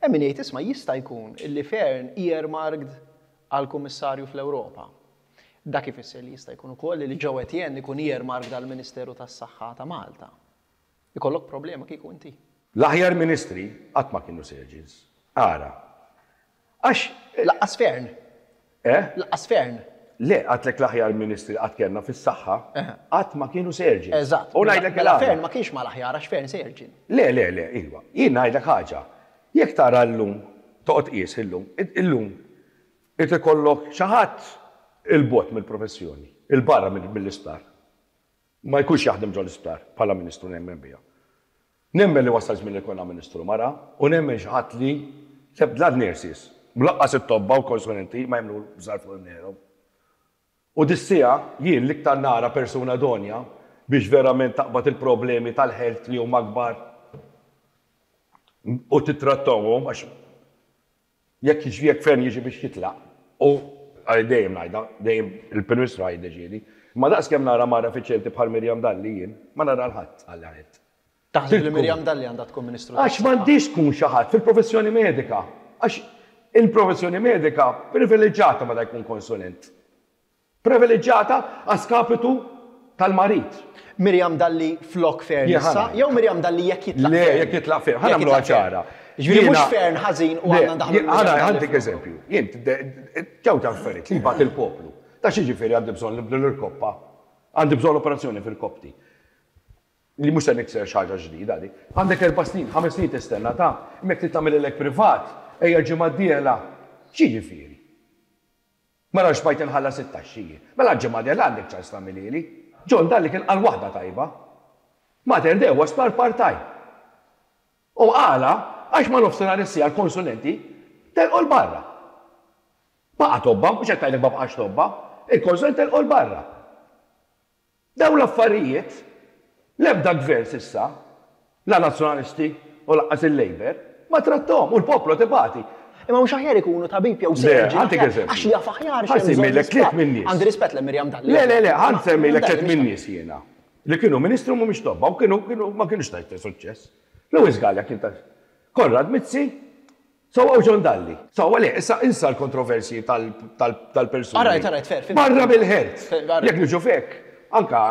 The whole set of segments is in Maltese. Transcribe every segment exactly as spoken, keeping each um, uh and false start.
Hemm min jgħid, isma', jista' jkun illi Fearne earmarked għal kummissarju fl-Ewropa. Dak ifisser li jista' jkun ukoll li Joe Etienne ikun earmarked għal Ministeru tas-Saħħa ta' Malta. Ikollok problema kieku inti? L-aħjar ministri qatt ma kienu surgeons. Ara. Għax. Lanqas Fearne. Eh? Lanqas Fearne. Le, għedtlek l-aħjar ministri qatt kellna fis-saħħa, qatt ma kienu surgeons. Eżatt. U ngħidlek Mela il-għala. Fearne ma kienx mal-aħjar għax Fearne surgeon. Le, le, le, iva. Jien ngħidlek ħaġa. Jekk tara llum, toqgħod qies illum, illum, irid ikollok xi ħadd 'il bogħod mill-professjoni, 'il barra mill-isptar. Ma jkunx jaħdem ġol isptar bħala ministru, nemmen biha. Nemmen li wasal żmien li jkollna ministru mara u nemmen xi ħadd li sebda nurses, lanqas it-tobba u konsulenti ma jemmnu bżar fuq il-nero. U dis-siegħa jien l-iktar nara persuna idonea biex verament taqbad il-problemi tal-health li huma kbar u titrattawhom, għax jekk jiġi, jekk Fearne jiġi biex jitlaq u għal dejjem ngħidha, dejjem il-Prim Ministru jiddeċiedi. Ma daqs kemm nara mara effiċjenti bħal Miriam Dalli jien, ma nara 'l ħadd għal ħadd. Taħseb li Miriam Dalli għandha tkun Ministru Għax tas-Saħħa? M'għandix tkun xi ħadd fil-professjoni medika. Għax il-professjoni medika privileġġjata meta jkun konsulent. Privileġġjata a skapitu tal-marid. Miriam Dalli flok Fearne Jien issa, ħana. jew Miriam Dalli jekk jitlaq Le, Fearne? jekk jitlaq Fearne. Ħa Jekk nagħmluha jitlaq Fearne. ċara. Ġifieri mhux Jiena- Fearne ħażin u Le, għandna ndaħlu jien- Miriam Ħana Dalli għandek flok. eżempju. Jien ġew ta' affarijiet li jbati il-poplu. Ta' xi ġifieri għandi bżonn nibdlu l-irkoppa. Għandi bżonn operazzjoni fil-kopti. Li mhux se nikser xi ħaġa ġdida di. Għandek erba' snin, ħames snin tistenna ta' imma jekk tagħmel privat, ejja ġimgħa d-dieħla. Xi ġifieri? Mela xbajt inħallas it-taxxi. Mela ġimgħa d-dieħla għandek ċans tagħmilili. John Dalli kien qal waħda tajba. Mater Dei huwa sptar part-time. U għala, għax ma nofsinhar is-siegħa l-konsulenti telqu 'l barra. Baqa' tobba, mhux qed tgħidlek ma baqax tobba, il-konsulenti telqu 'l barra. Dawn l-affarijiet, l-ebda gvern s'issa, la nazzjonalisti u lanqas il-Labour, ma trattahom u l-poplu tibati. Imma mhux aħjar ikunu tabib jew Le, surgeon? għandek Aħjar- eżempju. Għax jaf aħjar Ħa x'hemm bżonn nsemmilek tliet l-isptar. min nies. Għandi rispett lil Miriam Dalli. Le, le, le, ħa nsemmilek Dalli tliet mhix min nies jiena. Li kienu ministru mhumiex tobba u kienu kienu ma kienux ta' suċċess. Louis Galea kien ta' Konrad Mizzi, Sewwa, u John Dalli. Sewwa, le, issa insa l-kontroversji tal-persuni. All right, all right, fair, fhimt. Barra bil-health. Fair, all right. Jekk niġu fek, anka,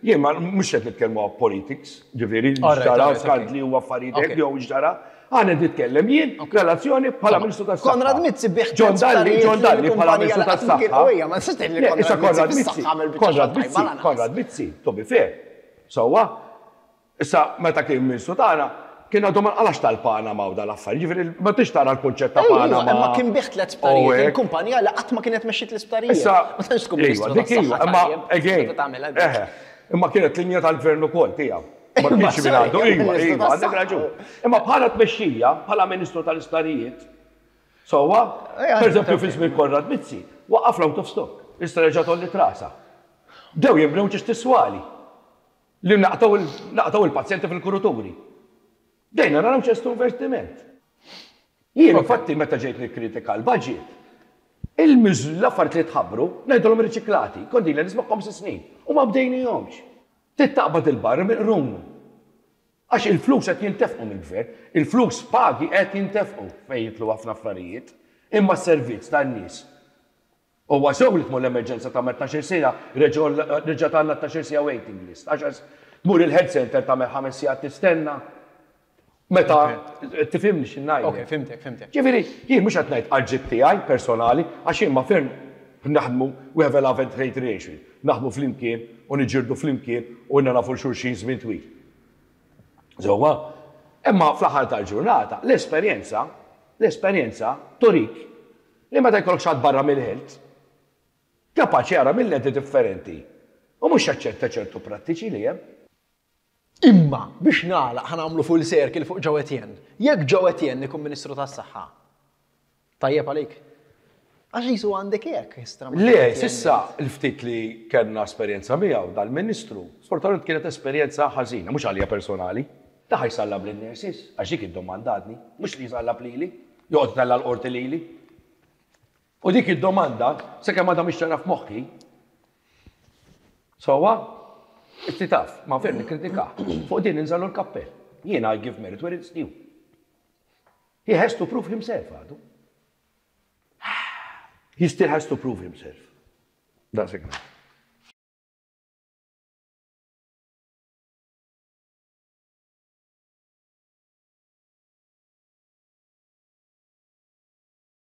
jien ma mhux qed nitkellmu politics, ġifieri, All right, ġara all right, skandli u affarijiet Okay. jew ġara, għana nitkellem jien relazzjoni bħala Ministru tas-Saħħa. Konrad Mizzi bih John Dalli, John Dalli bħala Ministru tas-Saħħa. Ma nistax tgħid li Le, issa Konrad Mizzi fis-saħħa għamel biċċa Konrad xogħol tajba Mizzi, lanqas. Konrad Mizzi, to be fair. Sewwa, issa meta kien Ministru tagħna, kien għadu ma nqalax tal-Panama u dal-affarijiet, ġifieri ma tix tara l-kunċett ta' Ejwa, Panama. imma kien bih tliet U sptarijiet, hekk. il-kumpanija li qatt ma kienet mexxiet l-isptarijiet. Issa, Ma tantx tkun iva, Ministru dik iva, tas-Saħħa imma tajjeb, again, tista' tagħmilha dik. eħe, imma kienet linja tal-gvern ukoll tiegħu. Ma Imma kienx minn sorry, għandu, iva, Ministru iva, għandek tas-Saħħa. raġun. Imma bħala tmexxija, bħala Ministru tal-Isptarijiet, sewwa, Ejja, per eżempju ok. fi żmien Konrad Mizzi, waqaf l-out of stock, issa reġa' tolli trasa. Dew jinbnew ġiex tiswali li naqtaw il- naqtaw il-pazjenti fil-kuruturi. Dejna naraw ċertu investiment. Jien infatti meta ġejt nikkritika l-budget, il-miż l-affarijiet li tħabbru, ngħidulhom riċiklati, kont ilha nismagħhom sitt snin u ma bdejnihomx. Tittaqbad il-barra minn qrunu. Għax il-flus qed jintefqu mill-gvern, il-flus pagi qed jintefqu fejn jitlu ħafna affarijiet, imma s-servizz tan-nies. Huwa sew li tmur l-emerġenza ta' tnax-il siegħa, reġa' tagħna tnax-il siegħa waiting list. Għax tmur il-health center tagħmel ħames sigħat tistenna. Meta tifhimni x'ngħidlek. Ok, fhimtek, fhimtek. Ġifieri, jien mhux qed ngħid għal tiegħi personali, għax jien ma Fearne naħdmu, we have a love and hate relation. Naħdmu flimkien u niġġieldu flimkien u nafu xulxin żmien twil. Sewwa, imma fl-aħħar tal-ġurnata, l-esperjenza, l-esperjenza turik li meta jkollok xi ħadd barra mill-health, kapaċi jara mill-lenti differenti. U mhux jaċċetta ċertu prattiċi li hemm. Imma biex nagħlaq, ħa nagħmlu full circle fuq Joe Etienne. Jekk Joe Etienne ikun Ministru tas-Saħħa, tajjeb għalik? Għax jisu għandek hekk istra ma' Le, Joe Etienne. S'issa il-ftit li kellna esperjenza miegħu dal-Ministru, sfortunatament kienet esperjenza ħażina, mhux għalija personali. Ta' ħa jsallab lin-nurses, għax dik id-domanda għadni, mhux li jsallab lili, joqgħod tella l-qorti lili. U dik id-domanda, sakemm għadha mhix ċara f'moħħi, sewwa, inti taf, ma Fearne nikkritika, fuq din ninżallu l-kappell. Jiena I give merit where it's due. He has to prove himself, għadu. He still has to prove himself. That's it.